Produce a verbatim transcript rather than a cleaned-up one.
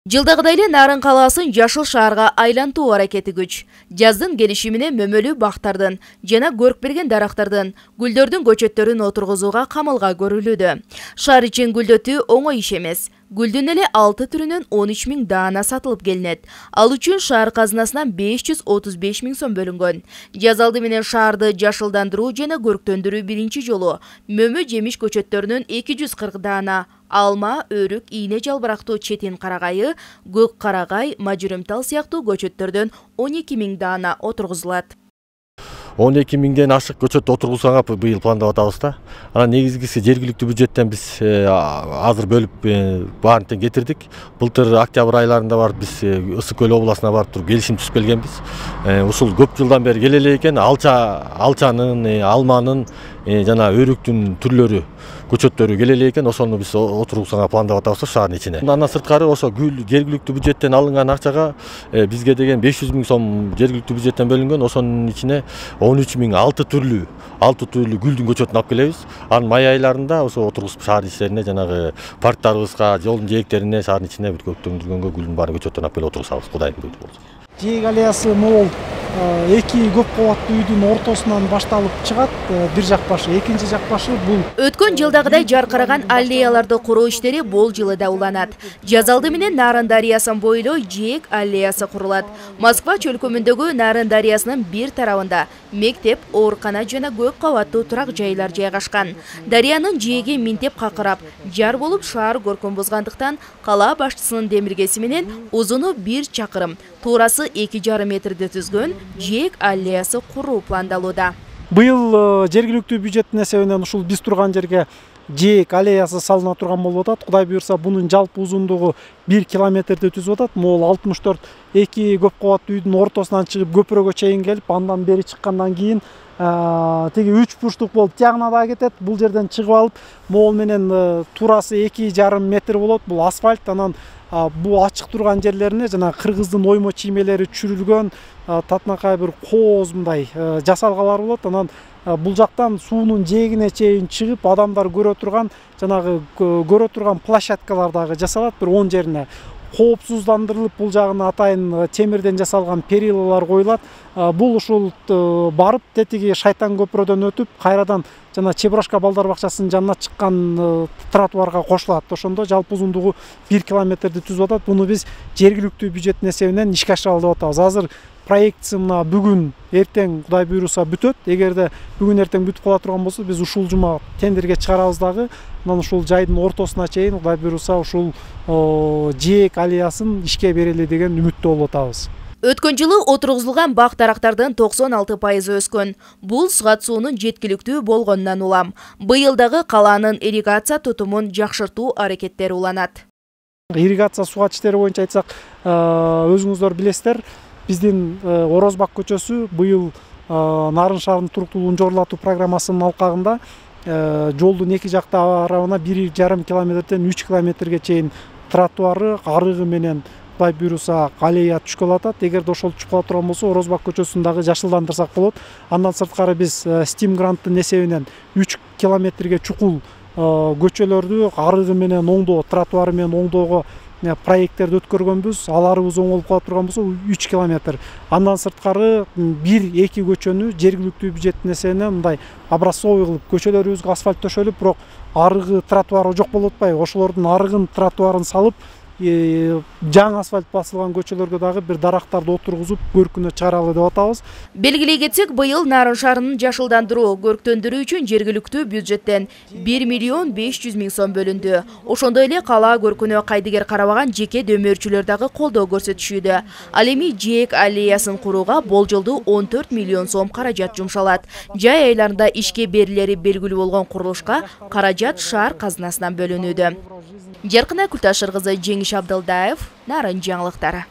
Жылдагыдай эле Нарын калаасын жашыл шаарга айлантуу аракети күч. Жаздын келиши менен мөмөлүү бактардын жана көрк берген дарактардын, гүлдөрдүн көчөттөрүн отургузууга камалга көрүлүүдө. Шаар ичин гүлдөтүү оңой иш эмес. Гүлдүн эле алты түрүнөн он үч миң даана сатылып келинет. Ал үчүн шаар казынасынан беш жүз отуз беш миң сом бөлүнгөн. Жаз алды менен шаарды жашылдандыруу жана көрктөндүрүү биринчи жолу мөмө жемиш көчөттөрүнөн эки жүз кырк даана, алма, өрүк, ийне жалбырактуу четин карагайы, көк карагай, мажүрүмтал сыяктуу көчөттөрдөн он эки миң даана отургузулат. он эки миңден ашык көчөт отургузганга быйыл пландап атабыз да. Анан негизгиси жергиликтүү бюджеттен биз азыр бөлүп баарын тең кетирдик. Былтыр октябрь айларында барып биз Ысык көл областына барып туруп келишим түзүп келгенбиз. Ушул көп жылдан бери келе эле экен. Алча, алчанын, алманын жана өрүктүн түрлөрү, көчөттөрү келе эле экен. Ошону биз отургузганга пландап атабыз шаардын ичине. Андан сырткары ошо гүл жергиликтүү бюджеттен алынган акчага бизге деген беш жүз миң сом жергиликтүү бюджеттен бөлүнгөн. Ошонун ичине он үч миң алты түрлүү алты түрлүү гүлдүн көчөтүн алып келебиз. Анын май айларында ошо отургузуп шаар ичтерине жанагы парктарыбызга, жолдун жээктерине, шаардын ичине бүт көктөндүргөнгө гүлдүн баарын көчөттөрүн алып келип отургузабыз. Кудайдын буйругу болсо. Жээк аллеясы могул эки көп кабаттуу үйдүн ортосунан башталып чыгат. Бир жак башы, экинчи жак башы бул. Өткөн жылдагыдай жаркыраган аллеяларды куруу иштери бул жылы да уланат. Жаз алды менен Нарын дарыясын бойлой Жээк аллеясы курулат. Москва чөлкөмүндөгү Нарын дарыясынын бир тарабында мектеп, оорукана жана көп кабаттуу турак жайлар жайгашкан. Дарыянын жээги минтеп какырап, жар болуп шаар көркүн бузгандыктан кала башчысынын демиргеси менен узуну бир чакырым, туурасы эки жарым метрди түзгөн Жээк аллеясы куруу пландалууда. Быйыл жергиликтүү бюджеттин эсебинен ушул биз турган жерге Жээк аллеясы салына турган болуп атат. Кудай буйрса, бунун жалпы узундугу бир километрди түзүп атат. Могул алтымыш төрт эки көп кабаттуу үйдүн ортосунан чыгып көпүрөгө чейин келип, андан бери чыккандан кийин тиги үч бурчтук болуп тиягына да кетет. Бул жерден чыгып алып, могул менен туурасы эки жарым метр болот. Бул асфальт. Анан бул ачык турган жерлерине жана кыргыздын оймо чиймелери түшүрүлгөн татынакай бир кооз мындай жасалгалар болот. Анан бул жактан суунун жээгине чейин чыгып, адамдар көрө турган жанагы көрө турган площадкалар дагы жасалат. Бир он жерине коопсуздандырылып, бул жагына атайын темирден жасалган перилалар коюлат. Бул ушул барып тетиги Шайтан көпүрөдөн өтүп, кайрадан жана Чебурашка балдар бакчасынын жанына чыккан тротуарга кошулат. Ошондо жалпы узундугу бир километрди түзүп атат. Буну биз жергиликтүү бюджеттин эсебинен ишке ашыралы деп атабыз. Азыр проектisi мына бүгүн, эртең Кудай буйруса бүтөт. Эгерде бүгүн эртең бүтүп кала турган болсо, биз ушул жума тендерге чыгарабыз дагы. Анан ушул жайдын ортосуна чейин Кудай буйруса ушул Жээк аллеясын ишке берели деген үмүттө болуп атабыз. Өткөн жылы отургузулган бак дарактардын токсон алты пайызы өскөн. Бул сугат суунун жеткиликтүү болгонунан улам. Быйыл дагы калаанын ирригация тутумун жакшыртуу аракеттери уланат. Ирригация сугат иштери боюнча айтсак, өзүңүздөр билесиздер, биздин Орозбак көчөсү быйыл Нарын шаарынын туруктуулугун жогорулатуу программасынын алкагында жолдун эки жак тарабына бир жарым километрден үч километрге чейин тротуары, арыгы менен Кудай буйруса аллея түшкөлө атат. Эгерде ошол түшүп кала турган болсо, Орозбак көчөсүн дагы жашылдандырсак болот. Андан сырткары биз Steam гранттын эсебинен үч километрге чукул көчөлөрдү арыгы менен оңдоо, тротуары менен оңдоого проекттерди өткөргөнбүз. Аларыбыз оңолуп кала турган болсо үч километр. Андан сырткары бир эки көчөнү жергиликтүү бюджеттин эсебинен мындай образцовый кылып көчөлөрүбүзгө асфальт төшөлүп, бирок арыгы тротуары жок болуп атпайбы? Ошолордун арыгын, тротуарын салып, жаңы асфальт басылган көчөлөргө дагы бир дарактарды отургузуп көркүнө чыгаралы деп атабыз. Белгилей кетсек, быйыл Нарын шаарынын жашылдандыруу, көрктөндүрүү үчүн жергиликтүү бюджеттен бир миллион беш жүз миң сом бөлүндү. Ошондой эле кала көркүнө кайдыгер карабаган жеке дөмөрчүлөр дагы колдоо көрсөтүшүүдө. Ал эми Жээк аллеясын курууга болжолдуу он төрт миллион сом каражат жумшалат. Жай айларында ишке берилери белгилүү болгон курулушка каражат шаар казынасынан бөлүнүүдө. Жаркына Күлташыр кызы, Жеңиш Абдылдаев, Нарын жаңылыктары.